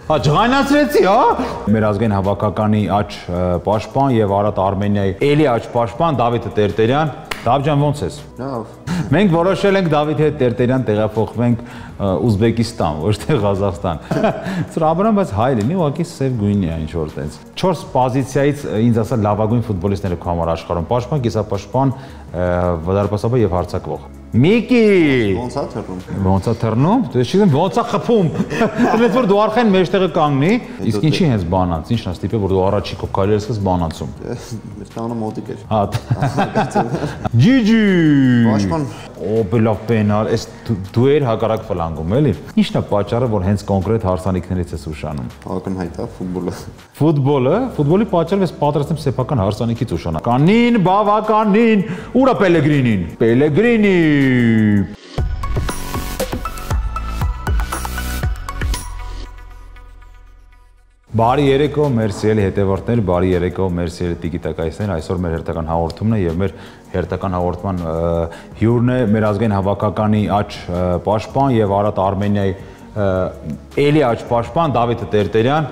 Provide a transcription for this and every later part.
Ջղայնացրեցի, հա։ Մեր ազգային հավաքականի աջ պաշտպան եւ Արարատ Արմենիայի էլի աջ պաշտպան Դավիթ Տերտերյան։ Դավ ջան, ոնց ես։ Լավ։ Մենք որոշել ենք Դավիթ հետ Տերտերյան տեղափոխվենք Ուզբեկիստան, ոչ թե Ղազախստան։ Ծրաբրան, բայց հայ լինի, ուղղակի սև գույնի է ինչ որ տենց։ 4 պոզիցիայից ինձ ասա լավագույն ֆուտբոլիստները քո համար աշխարհում՝ պաշտպան, կիսապաշտպան, վարդապասաբան եւ հարձակվող։ Միկի։ Ոնց է թռնում։ Ոնց է թռնում։ Դու չգիտեմ ոնց է խփում։ Դες որ դու արխային մեջտեղը կանգնի, իսկ ինչի հենց բանած, ինչն է ստիպե որ դու առաջի քո կարիերս ես բանացում։ Մեր տանը մոտիկ էր։ Հա։ Ջիջի։ Պաշտպան։ Օբելավ պենալ, էս դու էր հակառակ ֆլանգում, էլի։ Ինչն է պատճառը, որ հենց կոնկրետ հարսանիքներից ես ուշանում։ Ակնհայտ է ֆուտբոլը։ Ֆուտբոլի պատճառով ես պատրաստեմ սեփական հարսանիքից ուշանալ։ Կանին, բավականին, ուրա Պելեգրինին։ Պելեգրինի։ Բարի երեկո, մեր սիրելի հետևորդներ, բարի երեկո, մեր սիրելի տիկիտակայցներ, այսօր մեր հերթական հաղորդումն է եւ մեր հերթական հաղորդման հյուրն է մեր ազգային հավաքականի աջ պաշտպան եւ Արարատ Արմենիայի էլի աջ պաշտպան Դավիթ Տերտերյան։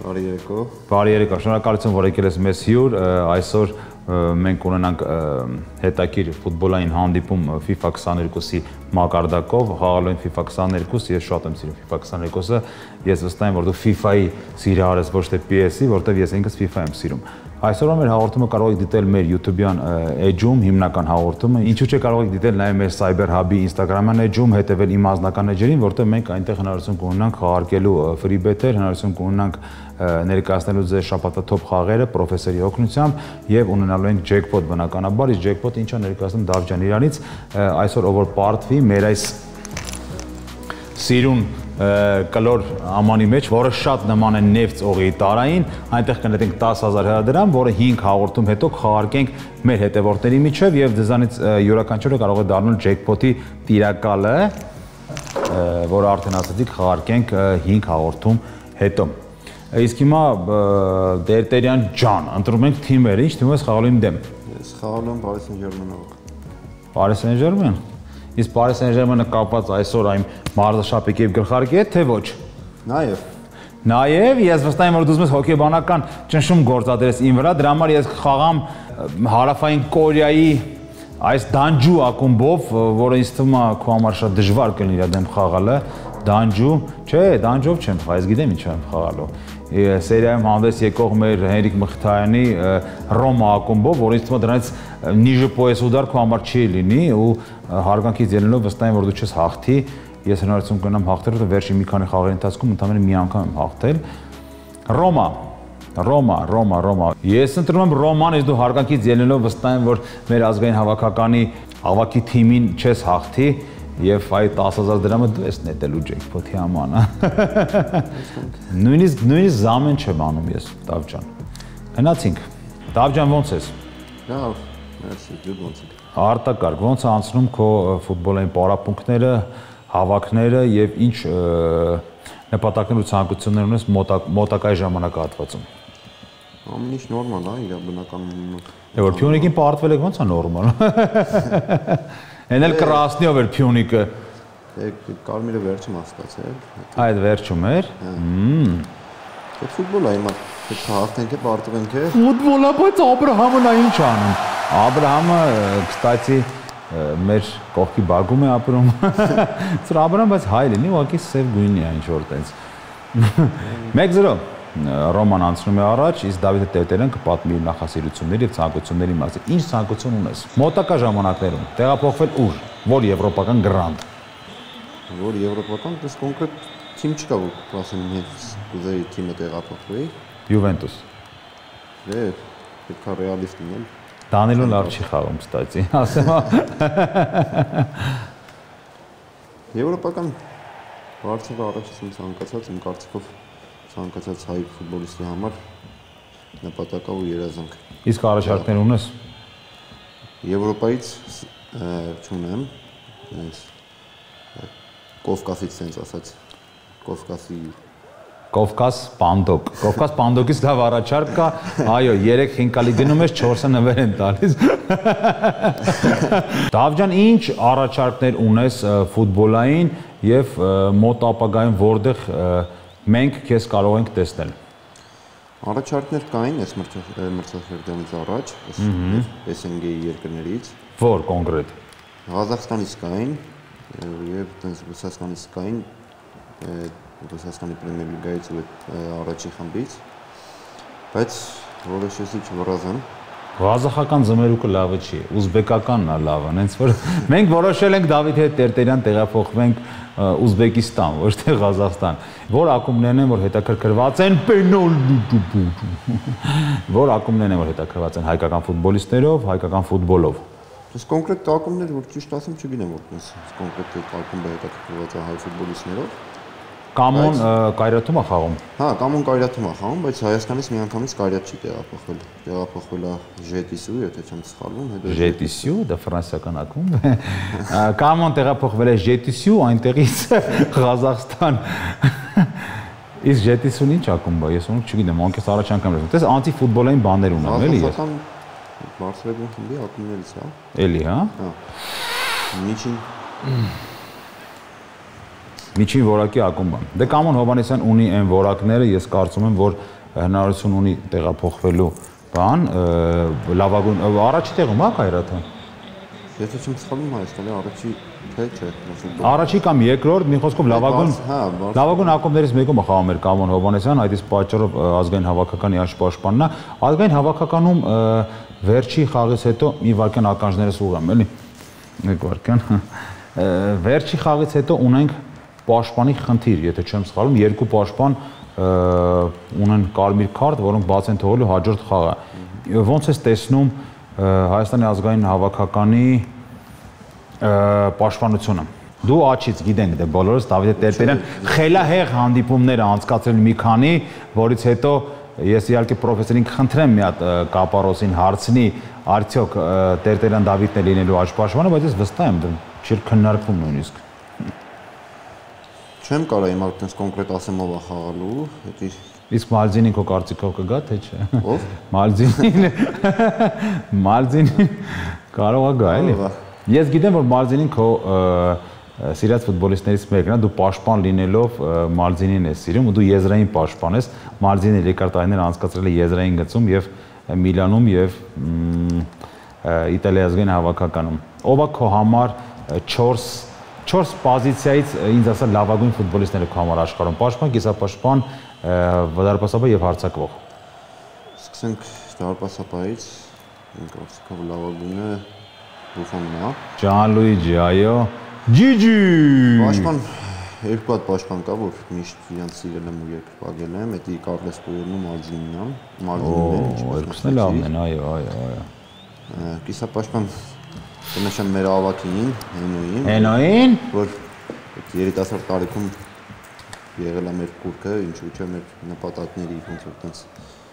Բարի երեկո։ Բարի երեկո, շնորհակալություն, որ եկել ես մեզ հյուր, այսօր մենք ունենանք հետաքրքիր ֆուտբոլային հանդիպում FIFA 22-ի մակարդակով, խաղալու են FIFA 22, ես շատ եմ սիրում FIFA 22-ը, ես վստահ եմ, որ դու FIFA-ի սիրահար ես, ոչ թե PS-ի, որտեղ ես ինքս FIFA եմ սիրում։ Այսօր մեր հաղորդումը կարող եք դիտել մեր YouTube-յան էջում, հիմնական հաղորդումը, ինչու՞ չէ կարող եք դիտել նաև մեր Cyber Hub-ի Instagram-յան էջում, հետևել իմ անձնական էջերին, որտեղ մենք այնտեղ հնարավորություն կունենանք խաղարկելու free bet-եր, հնարավորություն կունենանք ներկայացնելու ձեր շաբաթվա top խաղերը պրոֆեսորի օգնությամբ եւ ունենալու ենք jackpot բնականաբար, իսկ jackpot ինչա ներկայացնում Դավ ջան իրանից, այսօր ով որ պարտվի մեր այս սիրուն կլոր ամանի մեջ, որը շատ նման է նефտ օղի տարային, այնտեղ կնետենք 10,000 հրադրամ, որը 5 հաղորդում հետո խաղարկենք մեր հետևորդների միջև եւ դզանից յուրաքանչյուրը կարող է դառնալ jackpot-ի տիրակալը, որը արդեն ասացիք խաղարկենք 5 հաղորդում հետո։ Իսկ հիմա Տերտերյան ջան, ընտրում ենք թիմերը, ինչ թիմով ես խաղալու իմ դեմ։ Ես խաղալու եմ Paris Saint-Germain-ով։ Paris Saint-Germain։ Իսկ Paris Saint-Germain-ը կապված այսօր այն մարզաշապիկի եւ գլխարկի հետ, թե ոչ։ Նաեւ ես վստահ եմ որ դու ուզում ես հոկեբանական ճնշում գործադրես իմ վրա, դրա համար ես խաղամ Հարավային Կորեայի այս Դանջու ակումբով, որը ինձ թվում է քո համար շատ դժվար կլինի իր դեմ խաղալը։ Դանջու, չէ, Դանջով չեմ խաղա, ես գիտեմ ինչ եմ խաղալու։ Սերիայում հանդես եկող մեր Հենրիկ Մխիթարյանի Ռոմա ակումբով, որ ինձ թվում է դրանից նիժը պոյես ուդար քո համար չի լինի ու հարգանքից ելնելով վստահ եմ որ դու չես հաղթի, ես հնարավորություն կունենամ հաղթել, որովհետև վերջին մի քանի խաղերի ընթացքում ընդամենը մի անգամ եմ հաղթել։ Ռոմա։ Ես ընտրում եմ Ռոման, իսկ դու հարգանքից ելնելով վստահ եմ որ մեր ազգային հավաքականի ավակի թիմին չես հաղթի եւ այդ 10,000 դրամը դու ես նետելու jackpot-ի համանը։ Նույնիսկ զամեն չեմ անում ես, Դավ ջան։ Գնացինք։ Դավ ջան, ոնց ես։ Լավ, մերսի, դու ոնց ես։ Արտակարգ, ոնց է անցնում քո ֆուտբոլային պարապմունքները, հավաքները եւ ինչ նպատակներ ու ցանկություններ ունես մոտակայ ժամանակահատվածում։ Ամեն ինչ նորմալ է, իր բնականոն։ Որ Փյունիկին պարտվել եք ոնց է նորմալ։ Էնել կրասնիով էր Փյունիկը։ Կարմիրը վերջում հասկացել։ Այդ վերջում էր։ Դա ֆուտբոլ է, հիմա հաղթենք է, պարտվենք է։ Ֆուտբոլ է, բայց Աբրահամն է ինչ անում։ Աբրահամը, կստացի, մեր կողքի բագում է ապրում։ Ծրաբրան, բայց հայ լինի, ուղղակի սև գույնի է ինչ որ տենց։ 1-0 Ռոման անցնում է առաջ, իսկ Դավիթ Տերտերյան կպատմի իր նախասիրությունների եւ ցանկությունների մասին։ Ինչ ցանկություն ունես։ Մոտակա ժամանակներում տեղափոխվել ուր, որ եվրոպական գրանդ։ Որ եվրոպական, դες կոնկրետ թիմ չկա, որ ասեմ ինձ կուզեի թիմը տեղափոխվեի։ Յուվենտուս։ Պետք է ռեալիստ լինել։ Դանիելոն լավ չի խաղում, կստացի, ասեմ։ Եվրոպական բարձր առաջից եմ ցանկացած, իմ կարծիքով ցանկացած հայ ֆուտբոլիստի համար նպատակա ու երազանք։ Իսկ առաջարկներ ունես։ Եվրոպայից չունեմ, Կովկասից sense ասած, Կովկաս Պանդոկ։ Կովկաս Պանդոկից լավ առաջարկ կա, այո, 3 խինկալի դնում ես, 4-ը նվեր են տալիս։ Դավ ջան, ինչ առաջարկներ ունես ֆուտբոլային եւ մոտ ապագայում որտեղ մենք քեզ կարող ենք տեսնել։ Առաջարկներ կային այս մրցաշրջանից առաջ, SNG-ի երկրներից։ Որ կոնկրետ։ Ղազախստանից կային եւ տենց Ռուսաստանից կային, Ռուսաստանի պրեմիեր լիգայից ու առաջի խմբից, բայց որոշեցի չվրազեմ։ Ղազախական զմերուկը լավը չի, ուզբեկականն է լավը, հենց որ մենք որոշել ենք Դավիթ հետ Տերտերյան տեղափոխվենք Ուզբեկիստան, ոչ թե Ղազախստան։ Որ ակումբներն են, որ հետաքրքրված են որ ակումբներն են, որ հետաքրքրված են հայկական ֆուտբոլիստներով, հայկական ֆուտբոլով։ Ես կոնկրետ ակումբներ, որ ճիշտ ասեմ, չգիտեմ, որ կոնկրետ ակումբը հետաքրքրված է հայ ֆուտբոլիստներով։ Կամոն Կայրաթում է խաղում։ Հա, Կամոն Կայրաթում է խաղում, բայց Հայաստանից միանգամից Կայրաթ չի տեղափոխվել։ Տեղափոխվել է Ժետիսու, եթե չեմ սխալվում, հետո Ժետիսու, դա ֆրանսիական ակումբ է։ Կամոն տեղափոխվել է Ժետիսու, այնտեղից Ղազախստան։ Իսկ Ժետիսուն ինչ ակումբ է, ես onu չգիտեմ, անկես առաջ անգամ եմ։ Տես անտիֆուտբոլային բաներ ունեմ, էլի ես։ Ղազախստան Բարսելոն խմբի ակումբներից է։ Էլի, հա։ Հա։ Միջին որակի ակումբ է։ Դե Կամոն Հովհաննիսյան ունի այն որակները, ես կարծում եմ, որ հնարավորություն ունի տեղափոխվելու բան, լավագույն առաջի տեղում է Կայրաթը։ Եթե չեմ սխալվում, Հայաստանի առաջի չէ։ Առաջի կամ երկրորդ, մի խոսքով լավագույն ակումբներից մեկում է խաղում էր Կամոն Հովհաննիսյան, այդ իսկ պատճառով ազգային հավաքականի աշպաշտպանն է։ Ազգային հավաքականում վերջի խաղից հետո մի վարքյան ականջներս ուղղեմ, էլի։ Մեկ վարքյան։ Վերջի խաղից հետո ունենք պաշտպանի խնդիր, եթե չեմ սխալվում, երկու պաշտպան ունեն կարմիր քարտ, որոնք բաց են թողելու հաջորդ խաղը։ Ոնց ես տեսնում Հայաստանի ազգային հավաքականի պաշտպանությունը։ Դու աչից գիտենք դե բոլորս Դավիթ Տերտերյան խելահեղ հանդիպումներ անցկացրել մի քանի, որից հետո ես իհարկե պրոֆեսորին կխնդրեմ մի հատ Կապարոսին հարցնի, արդյոք Տերտերյան Դավիթն է լինելու աշպաշտպանը, բայց ես վստահ եմ դա չի քննարկվում նույնիսկ։ Չեմ կարող իմ այդպես կոնկրետ ասեմ ով է խաղալու, դա Իսկ Մալզինին քո կարծիքով կգա թե չէ։ Ով։ Մալզինին կարող է գա, էլի։ Ես գիտեմ, որ Մալզինին քո սիրած ֆուտբոլիստներից մեկն է, դու պաշտպան լինելով Մալզինին ես սիրում ու դու եզրային պաշտպան ես։ Մալզինը երկար տարիներ անցկացրել է եզրային գծում եւ Միլանում եւ Իտալիայի ազգային հավաքականում։ Ով է քո համար 4 պոզիցիայից ինձ ասա լավագույն ֆուտբոլիստները քո համար աշխարհում՝ պաշտպան, կիսապաշտպան, դարպասապահ եւ հարձակվող։ Սկսենք դարպասապահից, իմ կարծիքով լավագույնը Բուֆոնն է։ Ջանլուիջի, այո։ Ջիջի։ Պաշտպան երկու հատ պաշտպան կա, որ միշտ իրանց սիրել եմ ու երկրպագել եմ, դա Կարլես Պուերն ու Մալզինին է։ Երկուսն էլ լավն են, այո։ Կիսապաշտպան Կնշեմ մեր ավակին, Հենոին, որ երիտասարդ տարիքում եղել է մեր կուրքը, ինչու՞ չէ մեր նպատակների ոնց որ տենց։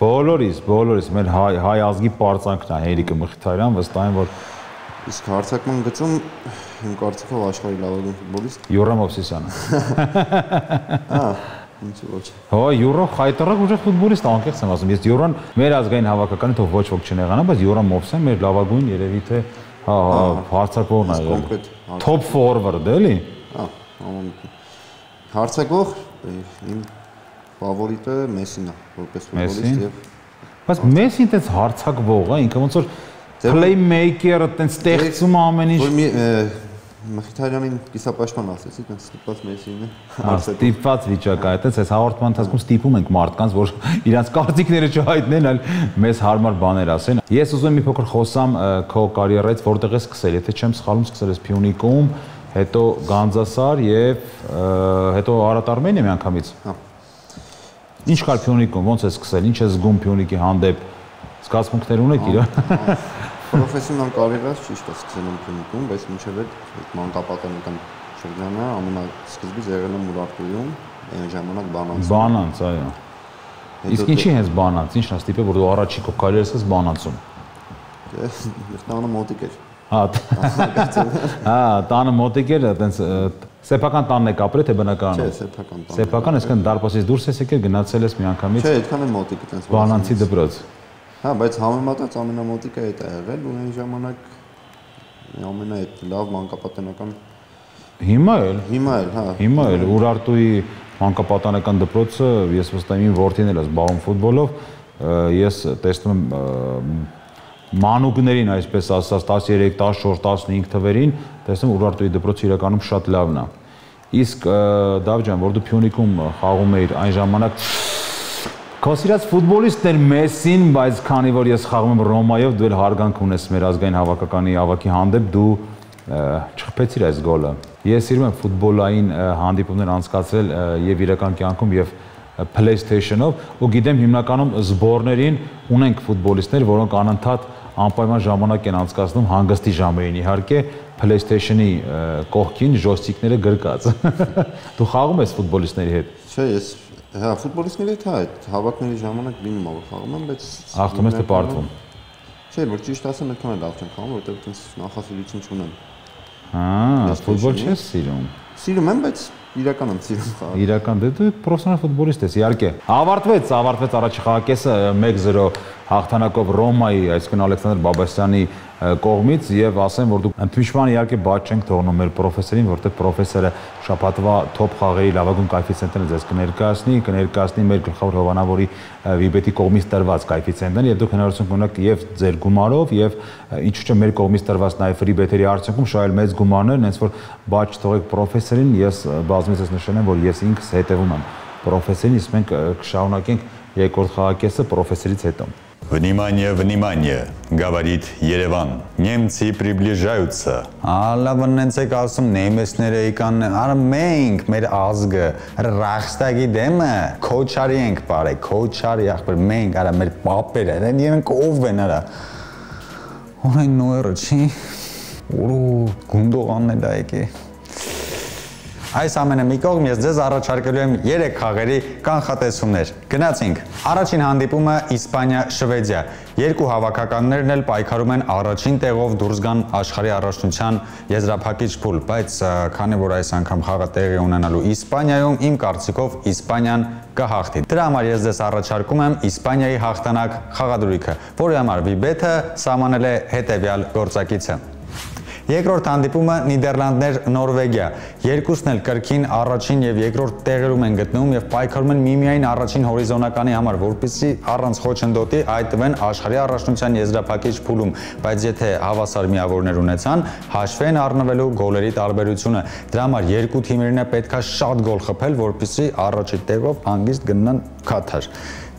Բոլորիս մեր հայ ազգի պարծանքն է Հերիկը Մխիթարյան, վստահ եմ, որ իսկ հարձակման գծում իմ կարծիքով աշխարհի լավագույն ֆուտբոլիստ Յուրա Մովսիսյանը։ Հա, ինչու՞ ոչ։ Հո, Յուրա խայտարակ ուժեղ ֆուտբոլիստ, անկեղծ եմ ասում, ես Յուրան մեր ազգային հավաքականի թող ոչ ոք չնեղանա, բայց Յուրա Մովսեն մեր լավագույն երևի թե հա, հարցակողն է եղել։ Top forward, էլի։ Հա, հարցակող իմ ֆավորիտը Մեսին է, որպես ֆուտբոլիստ եւ բայց Մեսին տենց հարցակվող է, ինքը ոնց որ playmaker-ը տենց ստեղծում ամեն ինչ։ Որ Մխիթարյանին կիսապաշտպան ասեցի, տենց ստիպված Մեսին է։ Ստիպված վիճակ է, տենց այս հաղորդման ընթացքում ստիպում ենք մարդկանց, որ իրանց կարծիքները չհայտնեն, այլ մեզ հարմար բաներ ասեն։ Ես ուզում եմ մի փոքր խոսամ քո կարիերայից, որտեղ ես սկսել, եթե չեմ սխալվում, սկսել ես Փյունիկում, հետո Գանձասար եւ հետո Արարատ Արմենիա միանգամից։ Հա։ Ինչ կար Փյունիկում, ոնց ես սկսել, ինչ ես զգում Փյունիկի հանդեպ, զգացմունքներ ունեք իրար։ Պրոֆեսիոնալ կարիերաս ճիշտ է սկսել եմ Փյունիկում, բայց մինչև այդ մանկապատանեկան շրջանը ամենասկզբից եղել եմ Ուրարտուում, այն ժամանակ Բանանցում։ Բանանց, այո։ Իսկ ինչի հենց Բանանց, ինչն է ստիպել, որ դու առաջի քո կարիերաս ես Բանանցում։ Տանը մոտիկ էր։ Հա, տանը մոտիկ էր, այտենց սեփական տանն եք ապրել թե բնակարանը։ Չէ, սեփական տան։ Սեփական, այսինքն դարպասից դուրս ես եկել, գնացել ես միանգամից։ Չէ, այդքան է մոտիկ այտենց։ Բանանցի դպրոց։ Հա, բայց համեմատած ամենամոտիկը այդ է եղել ու այն ժամանակ ամենա այդ լավ մանկապատանեկան Հիմա էլ, հա։ Հիմա էլ Ուրարտուի մանկապատանեկան դպրոցը, ես վստահ եմ իմ որդին էլ է զբաղվում ֆուտբոլով, ես տեսնում եմ մանուկներին, այսպես ասած, 13, 14, 15 թվերին, տեսնում Ուրարտուի դպրոցը իրականում շատ լավն է։ Իսկ Դավիթ ջան, որ դու Փյունիկում խաղում էիր այն ժամանակ քո սիրած ֆուտբոլիստն էր Մեսսին, բայց քանի որ ես խաղում եմ Ռոմայով, դու էլ հարգանք ունես մեր ազգային հավաքականի ավակի հանդեպ, դու չխփեցիր այս գոլը։ Ես սիրում եմ ֆուտբոլային հանդիպումներ անցկացրել եւ իրական կյանքում եւ PlayStation-ով ու գիտեմ հիմնականում զբորներին ունենք ֆուտբոլիստներ, որոնք անընդհատ անպայման ժամանակ են անցկացնում հանգստի ժամերին իհարկե PlayStation-ի կողքին joystick-ները գրկած։ Դու խաղում ես ֆուտբոլիստների հետ։ Չէ, ես հա ֆուտբոլիստների հետ այդ հավաքների ժամանակ լինում ա որ խաղում եմ, բայց Ախտում ես թե պարտվում։ Չէ, որ ճիշտ ասեմ, այդքան էլ լավ չեմ խաղում, որովհետև ինձ նախասիրություն չունեմ։ Ֆուտբոլ չես սիրում։ Սիրում եմ, բայց իրական եմ սիրում խաղալ։ Իրական դու պրոֆեսիոնալ ֆուտբոլիստ ես, իհարկե։ Ավարտվեց առաջի խաղակեսը 1-0 հաղթանակով Ռոմայի, այսինքն Ալեքսանդր Բաբասյանի կողմից եւ ասեմ, որ դուք ընդմիջման իհարկե բաց չենք թողնում մեր պրոֆեսորին, որտեղ պրոֆեսորը շաբաթվա թոփ խաղերի լավագույն կոեֆիցիենտները ձեզ կներկայացնի մեր գլխավոր հովանավորի Վիբետի կողմից տրված կոեֆիցիենտները եւ դուք հնարավորություն կունենաք եւ ձեր գումարով եւ ինչու՞ չէ մեր կողմից տրված նաեւ ֆրի բեթերի արդյունքում շահել մեծ գումարներ, հենց որ բաց չթողեք պրոֆեսորին, ես բազմիցս նշել եմ, որ ես ինքս հետևում եմ պրոֆեսորին, իսկ մենք կշարունակենք երկրորդ խաղակեսը պրոֆեսորից հետո։ Внимание, внимание, говорит Ереван. Немцы приближаются. Լավնենցեք ասում նեմեսները եկան, արա մենք, մեր ազգը, ռախստագի դեմը, քոչարի ենք բարե, քոչարի ախպեր, մենք, արա մեր պապերը, իրենք ով են արա։ Օրայն նոյրը չի, որու գունդողանն է եկի։ Այս ամենը մի կողմ ես ձեզ առաջարկելու եմ 3 խաղերի կանխատեսումներ։ Գնացինք։ Առաջին հանդիպումը Իսպանիա-Շվեդիա։ Երկու հավաքականներն էլ պայքարում են առաջին տեղով դուրս գան աշխարհի առաջնության եզրափակիչ փուլ, բայց քանի որ այս անգամ խաղը տեղի ունենալու Իսպանիայում, իմ կարծիքով Իսպանիան կհաղթի։ Դրա համար ես ձեզ առաջարկում եմ Իսպանիայի հաղթանակ խաղադրույքը, որի համար Վիբեթը սահմանել է հետևյալ գործակիցը։ Երկրորդ հանդիպումը Նիդերլանդներ-Նորվեգիա։ Երկուսն էլ կրկին առաջին եւ երկրորդ տեղերում են գտնվում եւ պայքարում են միմիայն առաջին հորիզոնականի համար, որպեսզի առանց խոչընդոտի այդտվեն աշխարհի առաջնության եզրափակիչ փուլում, բայց եթե հավասար միավորներ ունեցան, հաշվի են առնվելու գոլերի տարբերությունը։ Դրա համար երկու թիմերին է պետքա շատ գոլ խփել, որպեսզի առաջի տեղով հանգիստ գնան Քաթար։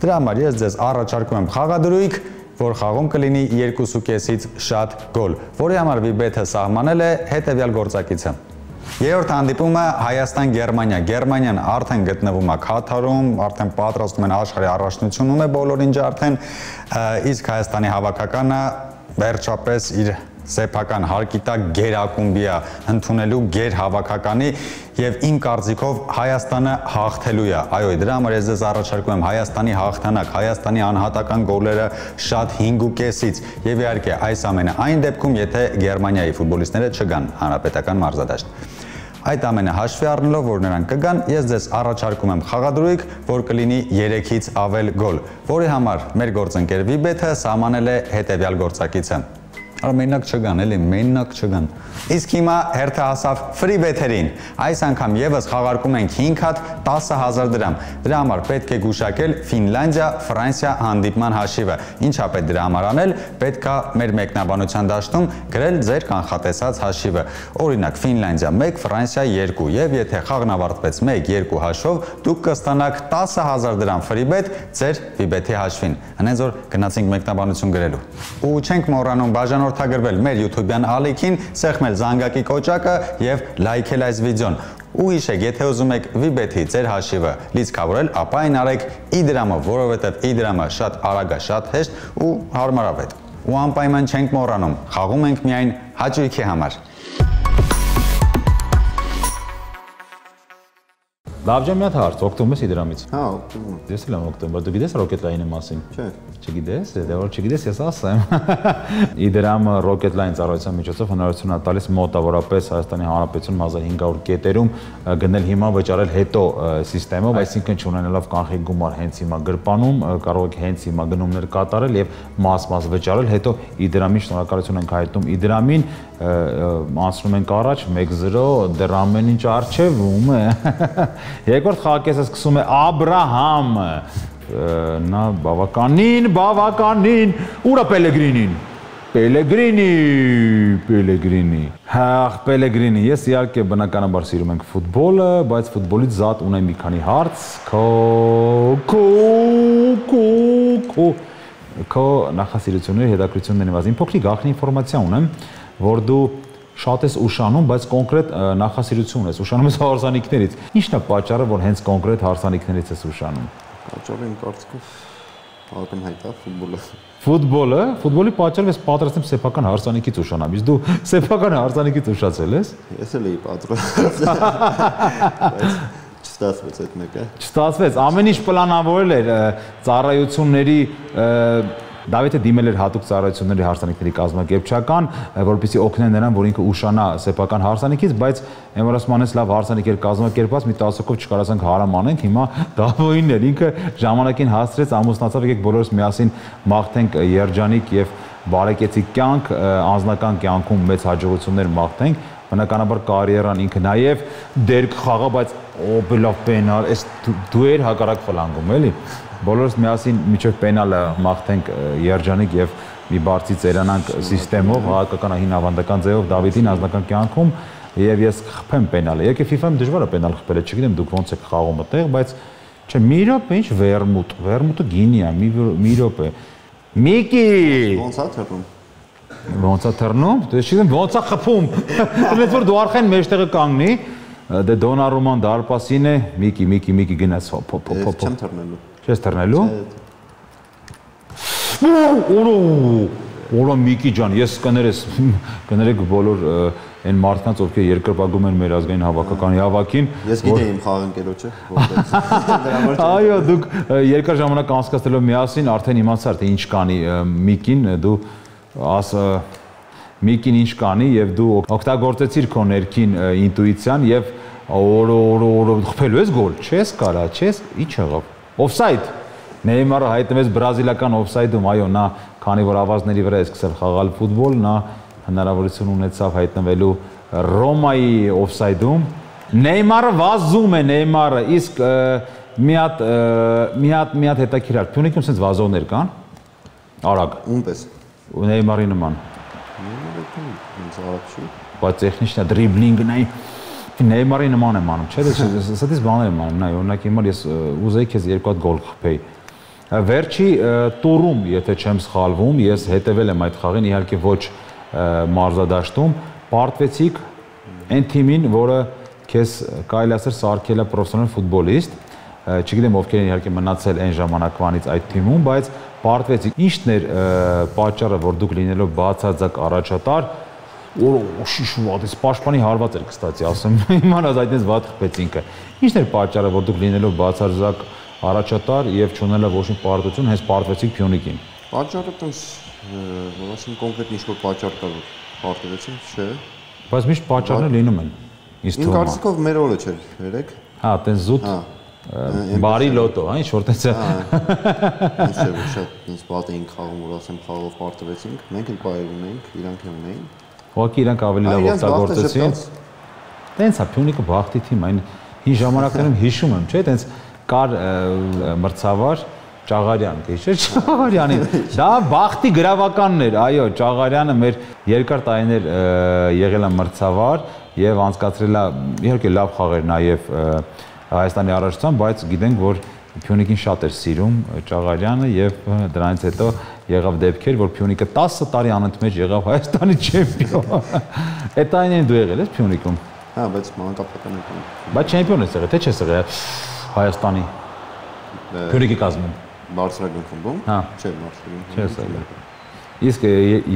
Դրա համար ես ձեզ առաջարկում եմ խաղադրույք, որ խաղում կլինի 2.5-ից շատ գոլ, որի համար Վիբեթը սահմանել է հետևյալ գործակիցը։ Երրորդ հանդիպումը Հայաստան-Գերմանիա։ Գերմանիան արդեն գտնվում է Քաթարում, արդեն պատրաստում են աշխարհի առաջնությունում է բոլորին արդեն, իսկ Հայաստանի հավաքականը վերջապես իր սեփական հարկի տակ գերակումբի է ընդունելու գերհավաքականի եւ իմ կարծիքով Հայաստանը հաղթելու է։ Այո, դրա համար ես ձեզ առաջարկում եմ Հայաստանի հաղթանակ, Հայաստանի անհատական գոլերը շատ 5.5-ից եւ իհարկե այս ամենը այն դեպքում, եթե Գերմանիայի ֆուտբոլիստները չգան հանրապետական մարզադաշտ։ Այդ ամենը հաշվի առնելով, որ նրանք կգան, ես ձեզ առաջարկում եմ խաղադրույք, որ կլինի 3-ից ավել գոլ, որի համար մեր գործընկեր Վիբեթը սահմանել է հետևյալ գործակիցը։ Արա մենակ չգան, էլի մենակ չգան։ Իսկ հիմա հերթը հասավ ֆրի բեթերին։ Այս անգամ եւս խաղարկում ենք 5 հատ 10,000 դրամ։ Դրա համար պետք է գուշակել Ֆինլանդիա-Ֆրանսիա հանդիպման հաշիվը։ Ինչա պետք դրա համար անել, պետքա մեր մեկնաբանության դաշտում գրել ձեր կանխատեսած հաշիվը։ Օրինակ Ֆինլանդիա 1, Ֆրանսիա 2, եւ եթե խաղն ավարտվեց 1-2 հաշվով, դուք կստանաք 10,000 դրամ ֆրի բեթ ձեր Վիբեթի հաշվին։ Հենց որ գնացինք մեկնաբանություն գրելու։ Ու չենք մոռանում բաժանորդագրվել մեր YouTube-յան ալիքին, սեղմել զանգակի կոճակը եւ լայքել այս վիդեոն։ Ու հիշեք, եթե ուզում եք Վիբեթի ձեր հաշիվը լիցքավորել, ապա այն արեք իդրամով, որովհետեւ իդրամը շատ արագ է, շատ հեշտ ու հարմարավետ։ Ու անպայման չենք մոռանում, խաղում ենք միայն հաճույքի համար։ Լավ ջան, մի հատ հարց, օգտվում ես իդրամից։ Հա, օգտվում եմ։ Ես էլ եմ օգտվում, բայց դու գիտես Rocket Line-ի մասին։ Չէ։ Չգիտես, դե որ չգիտես, ես ասեմ։ Իդրամը Rocket Line ծառայության միջոցով հնարավորություն է տալիս մոտավորապես Հայաստանի Հանրապետությունում 1500 կետերում գնել հիմա վճարել հետո սիստեմով, այսինքն չունենալով կանխիկ գումար հենց հիմա գրպանում, կարող եք հենց հիմա գնումներ կատարել եւ մաս վճարել, հետո իդրամին շնորհակալություն ենք հայտնում իդրամին, անցնում ենք առաջ 1-0, դեռ ամեն ինչ արժևում է։ Երկրորդ խաղակեսը սկսում է Աբրահամը։ Նա բավականին, ուրա Պելեգրինի։ Հաղ Պելեգրինի, ես իհարկե բնականաբար սիրում ենք ֆուտբոլը, բայց ֆուտբոլից զատ ունեմ մի քանի հարց, քո նախասիրությունների, հետաքրքրությունների մասին փոքրիկ գաղտնի ինֆորմացիա ունեմ, որ դու շատ ես ուշանում, բայց կոնկրետ նախասիրություն ես, ուշանում ես հարսանիքներից։ Ի՞նչն է պատճառը, որ հենց կոնկրետ հարսանիքներից ես ուշանում։ Պատճառը իմ կարծիքով ակնհայտ է ֆուտբոլը։ Ֆուտբոլի պատճառով ես պատրաստեմ սեփական հարսանիքից ուշանամ, իսկ դու սեփական հարսանիքից ուշացել ես։ Ես էլ էի պատրաստվում։ Չստացվեց այդ մեկը։ Չստացվեց, ամեն ինչ պլանավորել էր ծառայությունների Դավիթը դիմել էր հատուկ ծառայությունների հարսանիքների կազմակերպչական, որպեսզի օգնեն նրան, որ ինքը ուշանա սեփական հարսանիքից, բայց այն որ ասում անես լավ հարսանիք էր կազմակերպված, մի տասոկով չկարողացանք հարամ անենք, հիմա Դավոյինն էր, ինքը ժամանակին հասցրեց, ամուսնացավ, եկեք բոլորս միասին մաղթենք երջանիկ եւ բարեկեցիկ կյանք, անձնական կյանքում մեծ հաջողություններ մաղթենք, բնականաբար կարիերան ինքը նաեւ դերք խաղա, բայց լավ պենալ, այս դու էր հակառակ ֆլանգում, էլի։ Բոլորս միասին միջև պենալը մաղթենք երջանիկ եւ մի բարձի ծերանանք համակարգով, հաղթական հին ավանդական ձևով Դավիթին անձնական կյանքում եւ ես խփեմ պենալը։ Եկե FIFA-ում դժվար է պենալ խփելը, չգիտեմ դուք ոնց եք խաղում այդտեղ, բայց չէ, մի րոպե ինչ վերմուտը գինի է, մի րոպե։ Միկի Ոնց է թռնում։ Ոնց է թռնում։ Դե չգիտեմ ոնց է խփում։ Ոնց որ դու արխային մեջտեղը կանգնի, դե Դոնարուման դարպասին է, Միկի գնաց հոփ։ Չեմ թռնելու։ Չես թռնելու։ Օրո Միկի ջան, ես կներեք բոլոր այն մարդկանց, ովքեր երկրպագում են մեր ազգային հավաքականի հավաքին։ Ես գիտեի իմ խաղընկերոջը, որտեղ։ Այո, դուք երկար ժամանակ անցկացնելով միասին արդեն իմացար, թե ինչ կանի Միկին, դու Միկին ինչ կանի եւ դու օգտագործեցիր քո ներքին ինտուիցիան եւ օրո խփելու ես գոլ, չես կարա, ինչ եղավ։ Օֆսայդ։ Նեյմարը հայտնվեց բրազիլական օֆսայդում, այո, նա քանի որ ավազների վրա է սկսել խաղալ ֆուտբոլ, նա հնարավորություն ունեցավ հայտնվելու Ռոմայի օֆսայդում։ Նեյմարը վազում է, իսկ մի հատ հետաքրքիր Փյունիկում sense վազողներ կան։ Արագ։ Ումպես։ Նեյմարի նման։ Նեյմարը ինձ արագ չի։ Բայց տեխնիկն է, դրիբլինգն է։ Նեյմարի նման եմ անում, չէ՞, սա բաներ եմ անում, նայ, օրինակ հիմա ես ուզեի քեզ երկու հատ գոլ խփեի։ Վերջի տուրում, եթե չեմ սխալվում, ես հետևել եմ այդ խաղին, իհարկե ոչ մարզադաշտում, պարտվեցիք այն թիմին, որը քեզ կարելի ասել սարքել է պրոֆեսիոնալ ֆուտբոլիստ, չգիտեմ ովքեր են իհարկե մնացել այն ժամանակվանից այդ թիմում, բայց պարտվեցիք։ Ինչն էր պատճառը, որ դուք լինելով բացարձակ առաջատար շիշուատ, այս պաշտպանի հարված էր, կստացի, ասեմ, իմանաց այդպես վատ խփեց ինքը։ Ինչն էր պատճառը, որ դուք լինելով բացարձակ առաջատար եւ չունենալով ոչ մի պարտություն, հենց պարտվեցիք Փյունիկին։ Պատճառը տես, որ ասեմ կոնկրետ ինչ-որ պատճառ կա, որ պարտվեցին, չէ։ Բայց միշտ պատճառներ լինում են։ Իմ կարծիքով մեր օրը չէր, երեք։ Հա, տես զուտ բարի լոտո, հա, ինչ որ տես։ Ինչ չէ, որ շատ ինձ բաց էինք խաղում, որ ասեմ խաղով պարտվեցինք, մենք էլ բայր ունեինք, իրանք էլ ունեին։ Ուղղակի իրանք ավելի լավ օգտագործեցին։ Տենց է Փյունիկը բախտի թիմ, այն հին ժամանակներում հիշում եմ, չէ՞, տենց կար մրցավար Ճաղարյան, գիշեր Ճաղարյանին։ Դա բախտի գրավականն էր, այո, Ճաղարյանը մեր երկար տարիներ եղել է մրցավար եւ անցկացրել է իհարկե լավ խաղեր նաեւ Հայաստանի առաջացան, բայց գիտենք, որ Փյունիկին շատ էր սիրում Ճաղարյանը եւ դրանից հետո եղավ դեպքեր, որ Փյունիկը 10 տարի անընդմեջ եղավ Հայաստանի չեմպիոն։ Այդ այնին դու եղել ես Փյունիկում։ Հա, բայց մանկապետական եկան։ Բայց չեմպիոն ես եղել, թե չես եղել Հայաստանի Փյունիկի կազմում։ Բարձրագույն խմբում։ Հա։ Չէ, բարձրագույն։ Չես եղել։ Իսկ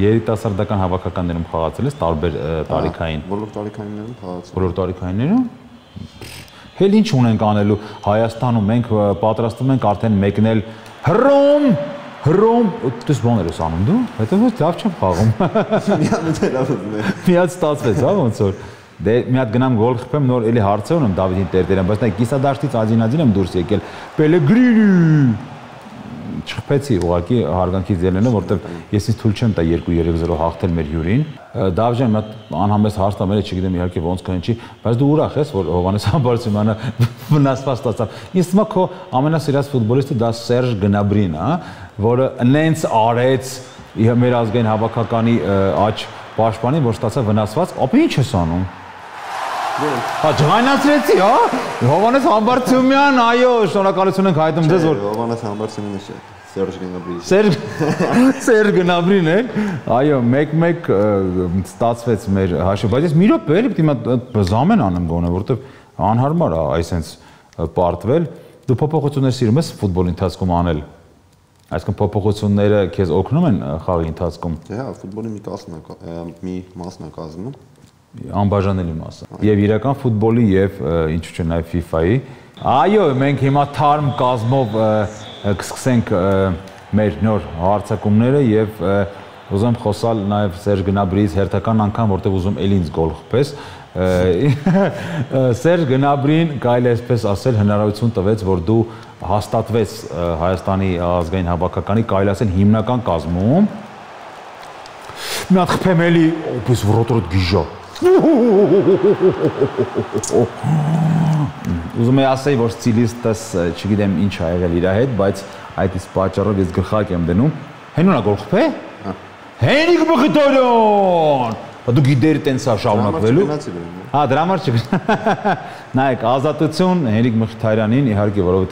երիտասարդական հավաքականներում խաղացել ես տարբեր տարիքային։ Բոլոր տարիքայիններում խաղացել։ Բոլոր տարիքայիններում։ Հել ինչ ունենք անելու Հայաստանում, մենք պատրաստվում ենք արդեն մեկնել հռոմ, դες բաներ ես անում դու, հետո ոչ լավ չեմ խաղում։ Միած ստացվեց, հա, ոնց որ։ Դե մի հատ գնամ գոլ խփեմ, նոր էլի հարց ունեմ Դավիթին տերտերեմ, բայց նա կիսադաշտից աջին եմ դուրս եկել։ Պելեգրինի։ Չխփեցի ուղղակի հարգանքից ելնելով, որովհետև ես ինձ թույլ չեմ տա 2-3-0 հաղթել մեր հյուրին։ Դավժան մի անհամեստ հարց տա մերը, չգիտեմ իհարկե ոնց կհնչի, բայց դու ուրախ ես, որ Հովհաննես Համբարձումյանը վնասված ստացավ։ Ինձ թվում է քո ամենասիրած ֆուտբոլիստը դա Սերժ Գնաբրին է, որը նենց արեց մեր ազգային հավաքականի աջ պաշտպանին, որ ստացավ վնասված, ապա ի՞նչ ես անում։ Հա ջղայնացրեցի, հա։ Հովհաննես Համբարձումյան, այո, շնորհակալություն ենք հայտնում ձեզ, որ Հովհաննես Համբարձումյանը չէ, Սերժ Գնաբրին։ Սերժ Գնաբրին է։ Այո, 1-1 ստացվեց մեր հաշվը, բայց ես մի րոպե էլի պետք է զամեն անեմ գոնե, որովհետև անհարմար է այսպես պարտվել։ Դու փոփոխություններ սիրում ես ֆուտբոլի ընթացքում անել։ Այսինքն փոփոխությունները քեզ օգնում են խաղի ընթացքում։ Դե հա, ֆուտբոլի մի մասն է կազմում։ Անբաժանելի մասը։ Եվ իրական ֆուտբոլի եւ ինչու՞ չէ նաեւ FIFA-ի։ Այո, մենք հիմա թարմ կազմով կսկսենք մեր նոր հարցակումները եւ ուզում խոսալ նաեւ Սերժ Գնաբրիից հերթական անգամ, որտեղ ուզում էլի ինձ գոլ խփես։ Սերժ Գնաբրին կարելի է այսպես ասել հնարավորություն տվեց, որ դու հաստատվես Հայաստանի ազգային հավաքականի կարելի ասել հիմնական կազմում։ Մի հատ խփեմ էլի, պես ռոտորոտ գիժա։ Ուզում եմ ասել, որ ստիլիստս չգիտեմ ինչ ա եղել իր հետ, բայց այդ իսկ պատճառով ես գլխակ եմ դնում։ Հենունա գոլ խփե։ Հենիկ Մխիթարյան։ Դու գիտեր տենց է շարունակվելու։ Հա, դրա համար չգնա։ Նայեք, ազատություն Հենիկ Մխիթարյանին իհարկե, որովհետև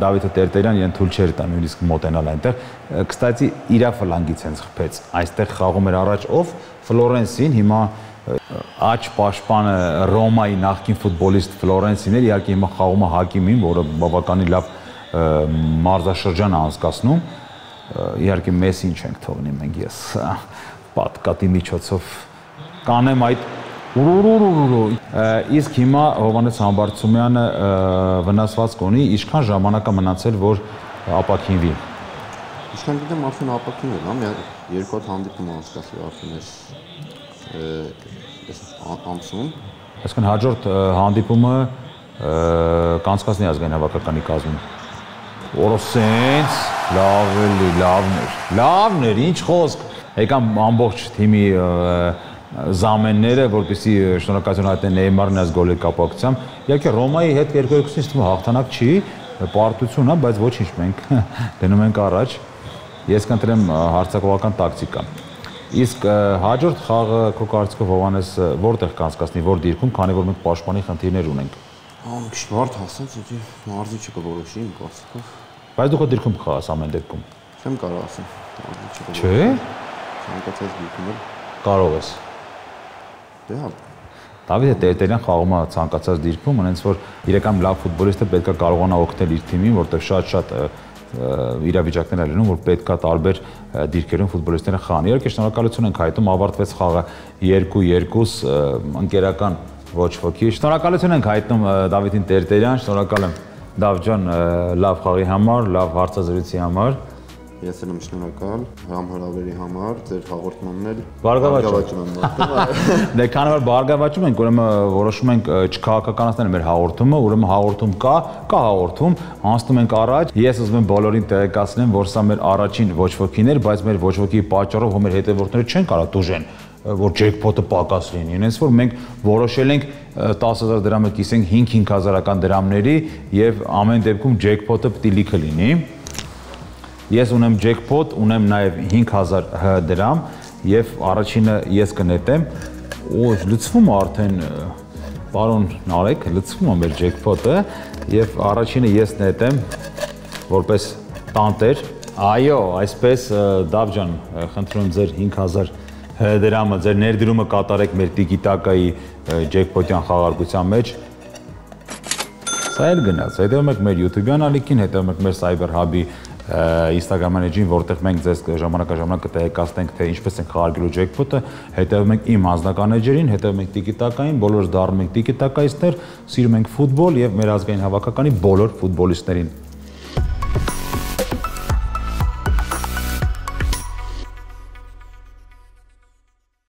Դավիթը Տերտերյան իրեն թույլ չէր տա նույնիսկ մոտենալ այնտեղ։ Կստացի իրա ֆլանգից հենց խփեց։ Այստեղ խաղում էր առաջ ով Ֆլորենսին, հիմա աջ պաշտպանը Ռոմայի նախկին ֆուտբոլիստ Ֆլորենսին էր, իհարկե հիմա խաղում է Հակիմին, որը բավականին լավ մարզաշրջան է անցկացնում։ Իհարկե Մեսսին չենք թողնի մենք ես պատկատի միջոցով կանեմ այդ իսկ հիմա Հովհաննես Համբարձումյանը վնասված կունի, ինչքան ժամանակ է մնացել, որ ապաքինվի։ Ինչքան գիտեմ, արդեն ապաքինվել, հա, երկու հատ հանդիպում անցկացրել արդեն այս ամսում։ Այսինքն հաջորդ հանդիպումը կանցկացնի ազգային հավաքականի կազմում։ Օրոսենց, լավներ, ինչ խոսք։ Եկան ամբողջ թիմի զամենները, որպեսզի շնորհակալություն հայտնեն Նեյմարին այս գոլի կապակցությամբ։ Իհարկե Ռոմայի հետ 2-2-ից թվում հաղթանակ չի, պարտություն է, բայց ոչինչ մենք դնում ենք առաջ։ Ես կընտրեմ հարձակողական տակտիկա։ Իսկ հաջորդ խաղը քո կարծիքով Հովհաննես որտեղ կանցկացնի, որ դիրքում, քանի որ մենք պաշտպանի խնդիրներ ունենք։ Մի քիչ բարդ հասած, էդի մարզիչը կորոշի իմ կարծիքով։ Բայց դու քո դիրքում կխաղաս ամեն դեպքում։ Չեմ կարող ասել։ Չէ՞։ Ցանկացած դիրքում կարող ես։ Դե հա։ Դավիթը Տերտերյան խաղում է ցանկացած դիրքում, այնց որ իրական լավ ֆուտբոլիստը պետք է կարողանա օգնել իր թիմին, որտեղ շատ իրավիճակներ են լինում, որ պետք է տարբեր դիրքերում ֆուտբոլիստները խաղան։ Իհարկե շնորհակալություն ենք հայտնում, ավարտվեց խաղը 2-2 ընկերական ոչ ոքի։ Շնորհակալություն ենք հայտնում Դավիթին Տերտերյան, շնորհակալ եմ Դավ ջան լավ խաղի համար, լավ հարցազրույցի համար։ Ես եմ շնորհակալ հրավերի համար, ձեր հաղորդմանն էլ բարգավաճում եմ։ Դե քանի որ բարգավաճում ենք, ուրեմն որոշում ենք չքաղաքականացնել մեր հաղորդումը, ուրեմն հաղորդում կա հաղորդում, անցնում ենք առաջ։ Ես ուզում եմ բոլորին տեղեկացնեմ, որ սա մեր առաջին ոչ ոքին էր, բայց մեր ոչ ոքի պատճառով հո մեր հետևորդները չեն կարող դուժեն, որ ջեքփոթը պակաս լինի։ Ինձ որ մենք որոշել ենք 10000 դրամը կիսենք 5-5000 դրամների եւ ամեն դեպքում ջեքփոթը պետք է լիքը լինի։ Ես ունեմ ջեքփոթ, ունեմ նաև 5000 դրամ եւ առաջինը ես կնետեմ։ Օ, լցվում է արդեն պարոն Նարեկ, լցվում է մեր ջեքփոթը եւ առաջինը ես նետեմ որպես տանտեր։ Այո, այսպես Դավ ջան, խնդրում եմ ձեր 5000 դրամը, ձեր ներդրումը կատարեք մեր տիկիտակայի ջեքփոթյան խաղարկության մեջ։ Սա էլ գնաց։ Հետևում եք մեր YouTube-յան ալիքին, հետևում եք մեր Cyber Hub-ի Instagram page-ին, որտեղ մենք ձեզ ժամանակ կտեղեկացնենք, թե ինչպես են խաղարկելու ջեքփոթը, հետևում ենք իմ անձնական էջերին, հետևում ենք տիկիտակային, բոլորս դառնում ենք տիկիտակայիստներ, սիրում ենք ֆուտբոլ եւ մեր ազգային հավաքականի բոլոր ֆուտբոլիստներին։